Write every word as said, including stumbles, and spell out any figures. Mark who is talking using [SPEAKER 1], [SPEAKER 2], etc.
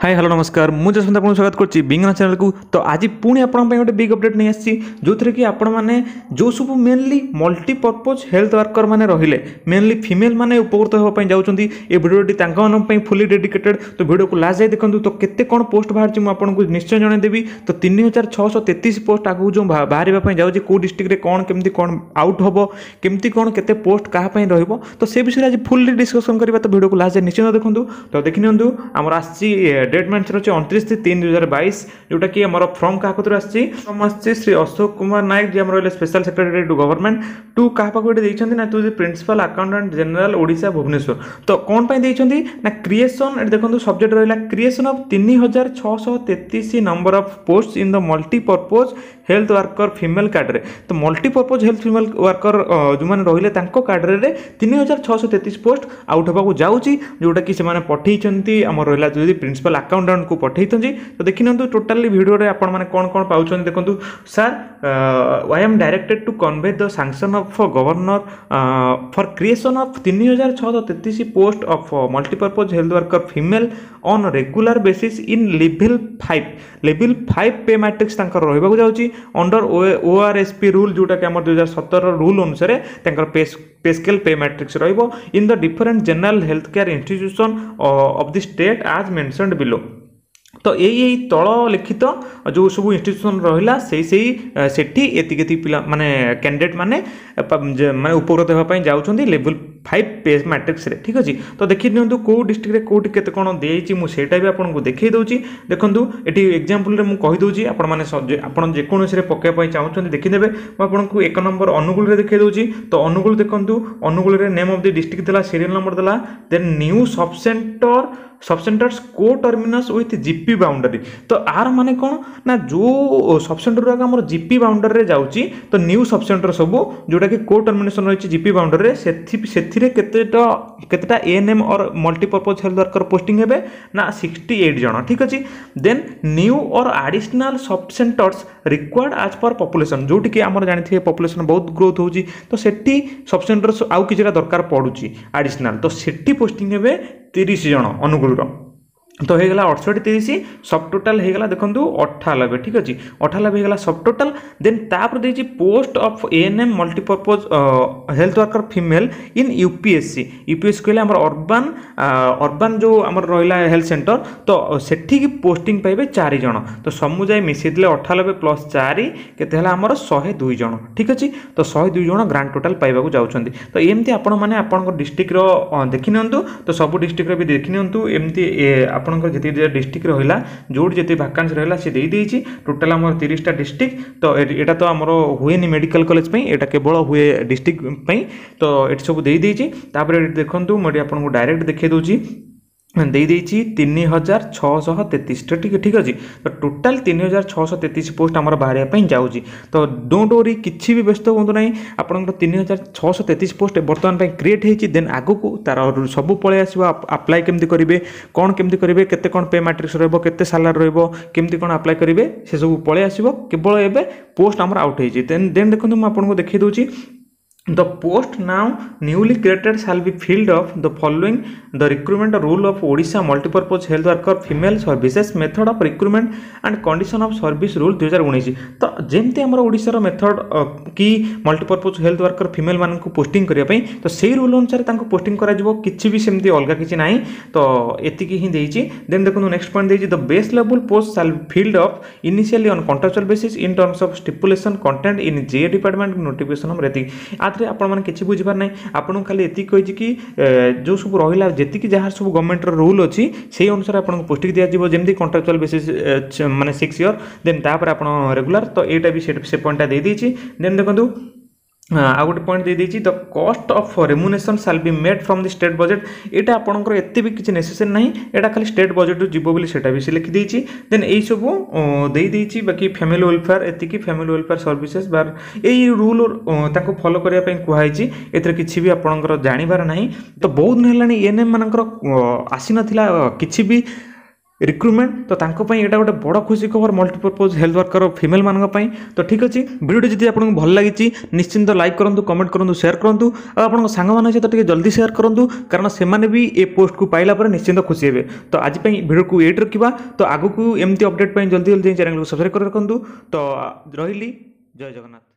[SPEAKER 1] high hello ନମସ୍କାର ମୁଁ ଯଶବନ୍ତ ଆପଣଙ୍କୁ ସ୍ୱାଗତ କରୁଛି ବିଙ୍ଗନା ଚ୍ୟାନେଲକୁ ତ ଆଜି ପୁଣି ଆପଣଙ୍କ ପାଇଁ ଗୋଟେ ବିଗ୍ ଅପଡେଟ୍ ନେଇ ଆସିଛି ଯେଉଁଥିରେ କି ଆପଣମାନେ ଯେଉଁ ସବୁ ମେନଲି ମଲ୍ଟିପର୍ପଜ୍ ହେଲ୍ଥ ୱାର୍କର ମାନେ ରହିଲେ ମେନଲି ଫିମେଲ୍ ମାନେ ଉପକୃତ ହେବା ପାଇଁ ଯାଉଛନ୍ତି ଏ ଭିଡ଼ିଓଟି ତାଙ୍କମାନଙ୍କ ପାଇଁ ଫୁଲି ଡେଡିକେଟେଡ୍ ତ ଭିଡ଼ିଓକୁ ଲାଷ୍ଟ ଯାଇ ଦେଖନ୍ତୁ ତ କେତେ କ'ଣ ପୋଷ୍ଟ ବାହାରିଛି ମୁଁ ଆପଣଙ୍କୁ ନିଶ୍ଚୟ ଜଣାଇଦେବି ତ ତିନି ହଜାର ଛଅଶହ ତେତିଶ ପୋଷ୍ଟ ଆଗକୁ ଯେଉଁ ବାହାରିବା ପାଇଁ ଯାଉଛି କେଉଁ ଡିଷ୍ଟ୍ରିକ୍ଟରେ କ'ଣ କେମିତି କ'ଣ ଆଉଟ୍ ହେବ କେମିତି କ'ଣ କେତେ ପୋଷ୍ଟ କାହା ପାଇଁ ରହିବ ତ ସେ ବିଷୟରେ ଆଜି ଫୁଲି ଡିସ୍କସନ୍ କରିବା ତ ଭିଡ଼ିଓକୁ ଲାଷ୍ଟ ଯାଏ ନିଶ୍ଚୟ ଦେଖନ୍ତୁ ତ ଦେଖିନିଅନ୍ତୁ ଆମର ଆସିଛି ଡେଟ୍ ମେନ୍ସନ୍ ଅଛି ଅଣତିରିଶ ତିନି ଦୁଇ ହଜାର ବାଇଶ ଯେଉଁଟାକି ଆମର ଫ୍ରମ୍ କାହା କତିରୁ ଆସିଛି ଫ୍ରମ୍ ଆସିଛି ଶ୍ରୀ ଅଶୋକ କୁମାର ନାୟକ ଯିଏ ଆମର ରହିଲେ Special Secretary to Government to କାହା ପାଖକୁ ଏଠି ଦେଇଛନ୍ତି ନା to the Principal Accountant General Odisha Bhubaneswar ତ କ'ଣ ପାଇଁ ଦେଇଛନ୍ତି ନା କ୍ରିଏସନ୍ ଏଠି ଦେଖନ୍ତୁ ସବଜେକ୍ଟ ରହିଲା କ୍ରିଏସନ୍ ଅଫ୍ ତିନି ହଜାର ଛଅଶହ ତେତିଶ number of post in the multipurpose health worker female cadre ତ ମଲ୍ଟିପର୍ପୋଜ୍ ହେଲ୍ଥ ଫିମେଲ୍ ୱାର୍କର ଯେଉଁମାନେ ରହିଲେ ତାଙ୍କ କ୍ୟାଡରରେ ତିନି ହଜାର ଛଅଶହ ତେତିଶ ପୋଷ୍ଟ ଆଉଟ୍ ହେବାକୁ ଯାଉଛି ଯେଉଁଟାକି ସେମାନେ ପଠେଇଛନ୍ତି ଆମର ରହିଲା ଯଦି ପ୍ରିନ୍ସିପାଲ୍ ଆକାଉଣ୍ଟାଣ୍ଟକୁ ପଠେଇଛନ୍ତି ତ ଦେଖିନିଅନ୍ତୁ ଟୋଟାଲି ଭିଡ଼ିଓରେ ଆପଣମାନେ କ'ଣ କ'ଣ ପାଉଛନ୍ତି ଦେଖନ୍ତୁ Sir I am directed to convey the sanction of Governor for creation of ତିନି ହଜାର ଛଅଶହ ତେତିଶ post of multipurpose health worker female on regular basis in level five level five pay matrix ତାଙ୍କର ରହିବାକୁ ଯାଉଛି ଅଣ୍ଡର ଓ ଆର୍ ଏସ୍ ପି ରୁଲ୍ ଯେଉଁଟାକି ଆମର ଦୁଇ ହଜାର ସତର ରୁଲ୍ ଅନୁସାରେ ତାଙ୍କର pay pay scale pay matrix ରହିବ in the different general health care institution of the state as mentioned below ତ ଏଇ ଏଇ ତଳ ଲିଖିତ ଯେଉଁ ସବୁ ଇନଷ୍ଟିଟ୍ୟୁସନ୍ ରହିଲା ସେଇ ସେଇ ସେଠି ଏତିକି ଏତିକି ପିଲା ମାନେ କ୍ୟାଣ୍ଡିଡେଟ୍ ମାନେ ମାନେ ଉପକୃତ ହେବା ପାଇଁ ଯାଉଛନ୍ତି ଲେଭେଲ୍ ଫାଇଭ୍ ପେ ମ୍ୟାଟ୍ରିକ୍ସରେ ଠିକ୍ ଅଛି ତ ଦେଖି ନିଅନ୍ତୁ କେଉଁ ଡିଷ୍ଟ୍ରିକ୍ଟରେ କେଉଁଠି କେତେ କ'ଣ ଦେଇଛି ମୁଁ ସେଇଟା ବି ଆପଣଙ୍କୁ ଦେଖାଇ ଦେଉଛି ଦେଖନ୍ତୁ ଏଠି ଏକ୍ଜାମ୍ପଲ୍ରେ ମୁଁ କହିଦେଉଛି ଆପଣମାନେ ଆପଣ ଯେକୌଣସିରେ ପକାଇବା ପାଇଁ ଚାହୁଁଛନ୍ତି ଦେଖିଦେବେ ମୁଁ ଆପଣଙ୍କୁ ଏକ ନମ୍ବର ଅନୁଗୁଳରେ ଦେଖାଇ ଦେଉଛି ତ ଅନୁଗୁଳ ଦେଖନ୍ତୁ ଅନୁଗୁଳରେ ନେମ୍ ଅଫ୍ the district ଦେଲା ସିରିଏଲ୍ ନମ୍ବର ଦେଲା then new sub center sub centers co terminus with GP boundary ତ ଆର ମାନେ କ'ଣ ନା ଯେଉଁ ସବ୍ ସେଣ୍ଟର ଗୁଡ଼ାକ ଆମର ଜିପି ବାଉଣ୍ଡରୀରେ ଯାଉଛି ତ ନ୍ୟୁ ସବ୍ ସେଣ୍ଟର ସବୁ ଯେଉଁଟାକି କୋ ଟର୍ମିନେସନ୍ ରହିଛି ଜିପି ବାଉଣ୍ଡରୀରେ ସେଥି ସେଥିରେ କେତେଟା କେତେଟା ANM or multipurpose health worker posting ହେବେ ନା ସିକ୍ସଟି ଏଇଟ୍ ଜଣ ଠିକ୍ ଅଛି then new or additional sub centers required as per population ଯେଉଁଠିକି ଆମର ଜାଣିଥିବେ ପପୁଲେସନ୍ ବହୁତ ଗ୍ରୋଥ୍ ହେଉଛି ତ ସେଠି ସବ୍ ସେଣ୍ଟର୍ସ ଆଉ କିଛିଟା ଦରକାର ପଡ଼ୁଛି ଆଡ଼ିସନାଲ୍ ତ ସେଠି ପୋଷ୍ଟିଂ ହେବେ ତିରିଶ ଜଣ ଅନୁଗୁଳର ତ ହେଇଗଲା ଅଠଷଠି ତିରିଶ ସବ୍ ଟୋଟାଲ୍ ହେଇଗଲା ଦେଖନ୍ତୁ ଅଠାନବେ ଠିକ୍ ଅଛି ଅଠାନବେ ହେଇଗଲା ସବ୍ ଟୋଟାଲ୍ ଦେନ୍ ତାପରେ ଦେଇଛି post of ANM multipurpose health worker female in UPHC U P H C କହିଲେ ଆମର ଅର୍ବାନ୍ ଅର୍ବାନ୍ ଯେଉଁ ଆମର ରହିଲା ହେଲ୍ଥ ସେଣ୍ଟର ତ ସେଠିକି ପୋଷ୍ଟିଂ ପାଇବେ ଚାରି ଜଣ ତ ସମୁଦାୟ ମିଶାଇ ଦେଲେ ଅଠାନବେ ପ୍ଲସ୍ ଚାରି କେତେ ହେଲା ଆମର ଶହେ ଦୁଇ ଜଣ ଠିକ୍ ଅଛି ତ ଶହେ ଦୁଇ ଜଣ ଗ୍ରାଣ୍ଡ ଟୋଟାଲ୍ ପାଇବାକୁ ଯାଉଛନ୍ତି ତ ଏମିତି ଆପଣମାନେ ଆପଣଙ୍କ ଡିଷ୍ଟ୍ରିକ୍ଟର ଦେଖିନିଅନ୍ତୁ ତ ସବୁ ଡିଷ୍ଟ୍ରିକ୍ଟର ବି ଦେଖିନିଅନ୍ତୁ ଏମିତି ଆପଣଙ୍କର ଯେତିକି ଡିଷ୍ଟ୍ରିକ୍ଟ ରହିଲା ଯେଉଁଠି ଯେତିକି ଭାକାନ୍ସି ରହିଲା ସେ ଦେଇଦେଇଛି ଟୋଟାଲ୍ ଆମର ତିରିଶଟା ଡିଷ୍ଟ୍ରିକ୍ଟ ତ ଏଇଟା ତ ଆମର ହୁଏନି ମେଡ଼ିକାଲ କଲେଜ ପାଇଁ ଏଇଟା କେବଳ ହୁଏ ଡିଷ୍ଟ୍ରିକ୍ଟ ପାଇଁ ତ ଏଠି ସବୁ ଦେଇଦେଇଛି ତାପରେ ଏଠି ଦେଖନ୍ତୁ ମୁଁ ଏଠି ଆପଣଙ୍କୁ ଡାଇରେକ୍ଟ ଦେଖାଇ ଦେଉଛି ଦେଇଦେଇଛି ତିନି ହଜାର ଛଅଶହ ତେତିଶଟା ଠିକ୍ ଠିକ୍ ଅଛି ତ ଟୋଟାଲ୍ ତିନି ହଜାର ଛଅଶହ ତେତିଶ ପୋଷ୍ଟ ଆମର ବାହାରିବା ପାଇଁ ଯାଉଛି ତ don't worry କିଛି ବି ବ୍ୟସ୍ତ ହୁଅନ୍ତୁ ନାହିଁ ଆପଣଙ୍କର ତିନି ହଜାର ଛଅଶହ ତେତିଶ ପୋଷ୍ଟ ବର୍ତ୍ତମାନ ପାଇଁ କ୍ରିଏଟ୍ ହେଇଛି ଦେନ୍ ଆଗକୁ ତାର ସବୁ ପଳେଇ ଆସିବ ଆପ୍ଲାଏ କେମିତି କରିବେ କ'ଣ କେମିତି କରିବେ କେତେ କ'ଣ ପେ ମାଟ୍ରିକ୍ସ ରହିବ କେତେ ସାଲାରୀ ରହିବ କେମିତି କ'ଣ ଆପ୍ଲାଏ କରିବେ ସେସବୁ ପଳେଇ ଆସିବ କେବଳ ଏବେ ପୋଷ୍ଟ ଆମର ଆଉଟ୍ ହେଇଛି ଦେନ୍ ଦେନ୍ ଦେଖନ୍ତୁ ମୁଁ ଆପଣଙ୍କୁ ଦେଖାଇ ଦେଉଛି The post now newly created shall be filled of the following the recruitment rule of Odisha Multipurpose Health Worker Female Services method of recruitment and condition of service rule ଦୁଇ ହଜାର ଉଣେଇଶ ତ ଯେମିତି ଆମର ଓଡ଼ିଶାର ମେଥଡ଼ କି ମଲ୍ଟିପର୍ପଜ୍ ହେଲ୍ଥ ୱାର୍କର ଫିମେଲ୍ ମାନଙ୍କୁ posting କରିବା ପାଇଁ ତ ସେଇ ରୁଲ୍ ଅନୁସାରେ ତାଙ୍କୁ ପୋଷ୍ଟିଂ କରାଯିବ କିଛି ବି ସେମିତି ଅଲଗା କିଛି ନାହିଁ ତ ଏତିକି ହିଁ ଦେଇଛି ଦେନ୍ ଦେଖନ୍ତୁ ନେକ୍ସଟ ପଏଣ୍ଟ ଦେଇଛି the base level post shall filled up initially on contractual basis in terms of stipulation contained in J department notification number ଏତିକି ଆଥିରେ ଆପଣମାନେ କିଛି ବୁଝିବାର ନାହିଁ ଆପଣଙ୍କୁ ଖାଲି ଏତିକି କହିଛି କି ଯେଉଁ ସବୁ ରହିଲା ଯେତିକି ଯାହା ସବୁ ଗଭର୍ଣ୍ଣମେଣ୍ଟର ରୁଲ୍ ଅଛି ସେଇ ଅନୁସାରେ ଆପଣଙ୍କୁ ପୋଷ୍ଟିଂ ଦିଆଯିବ ଯେମିତି କଣ୍ଟ୍ରାକ୍ଚୁଆଲ୍ ବେସିସ୍ ମାନେ ସିକ୍ସ ଇୟର୍ ଦେନ୍ ତାପରେ ଆପଣ ରେଗୁଲାର ତ ଏଇଟା ବି ସେ ପଏଣ୍ଟଟା ଦେଇଦେଇଛି ଦେନ୍ ଦେଖନ୍ତୁ ଆଉ ଗୋଟେ ପଏଣ୍ଟ ଦେଇଦେଇଛି the cost of remuneration shall be made from the state budget ଏଇଟା ଆପଣଙ୍କର ଏତେ ବି କିଛି ନେସେସରି ନାହିଁ ଏଇଟା ଖାଲି ଷ୍ଟେଟ୍ ବଜେଟ୍ରୁ ଯିବ ବୋଲି ସେଇଟା ବି ସେ ଲେଖିଦେଇଛି ଦେନ୍ ଏଇସବୁ ଦେଇଦେଇଛି ବାକି ଫ୍ୟାମିଲି ୱେଲଫେୟାର ଏତିକି ଫ୍ୟାମିଲି ୱେଲଫେୟାର ସର୍ଭିସେସ୍ ବା ଏଇ ରୁଲ୍ ତାଙ୍କୁ ଫଲୋ କରିବା ପାଇଁ କୁହାହେଇଛି ଏଥିରେ କିଛି ବି ଆପଣଙ୍କର ଜାଣିବାର ନାହିଁ ତ ବହୁତ ଦିନ ହେଲାଣି ଏନ୍ ଏମ୍ ମାନଙ୍କର ଆସିନଥିଲା କିଛି ବି ରିକ୍ରୁଟମେଣ୍ଟ ତ ତାଙ୍କ ପାଇଁ ଏଇଟା ଗୋଟେ ବଡ଼ ଖୁସି ଖବର ମଲ୍ଟିପର୍ପଜ୍ ହେଲ୍ଥ ୱାର୍କର ଫିମେଲ୍ମାନଙ୍କ ପାଇଁ ତ ଠିକ୍ ଅଛି ଭିଡ଼ିଓଟି ଯଦି ଆପଣଙ୍କୁ ଭଲ ଲାଗିଛି ନିଶ୍ଚିନ୍ତ ଲାଇକ୍ କରନ୍ତୁ କମେଣ୍ଟ କରନ୍ତୁ ସେୟାର କରନ୍ତୁ ଆଉ ଆପଣଙ୍କ ସାଙ୍ଗମାନଙ୍କ ସହିତ ଟିକେ ଜଲ୍ଦି ସେୟାର କରନ୍ତୁ କାରଣ ସେମାନେ ବି ଏ ପୋଷ୍ଟକୁ ପାଇଲା ପରେ ନିଶ୍ଚିନ୍ତ ଖୁସି ହେବେ ତ ଆଜି ପାଇଁ ଭିଡ଼ିଓକୁ ଏଇଠି ରଖିବା ତ ଆଗକୁ ଏମିତି ଅପଡ଼େଟ୍ ପାଇଁ ଜଲ୍ଦି ଜଲ୍ଦି ଚ୍ୟାନେଲକୁ ସବସ୍କ୍ରାଇବ୍ କରି ରଖନ୍ତୁ ତ ରହିଲି ଜୟ ଜଗନ୍ନାଥ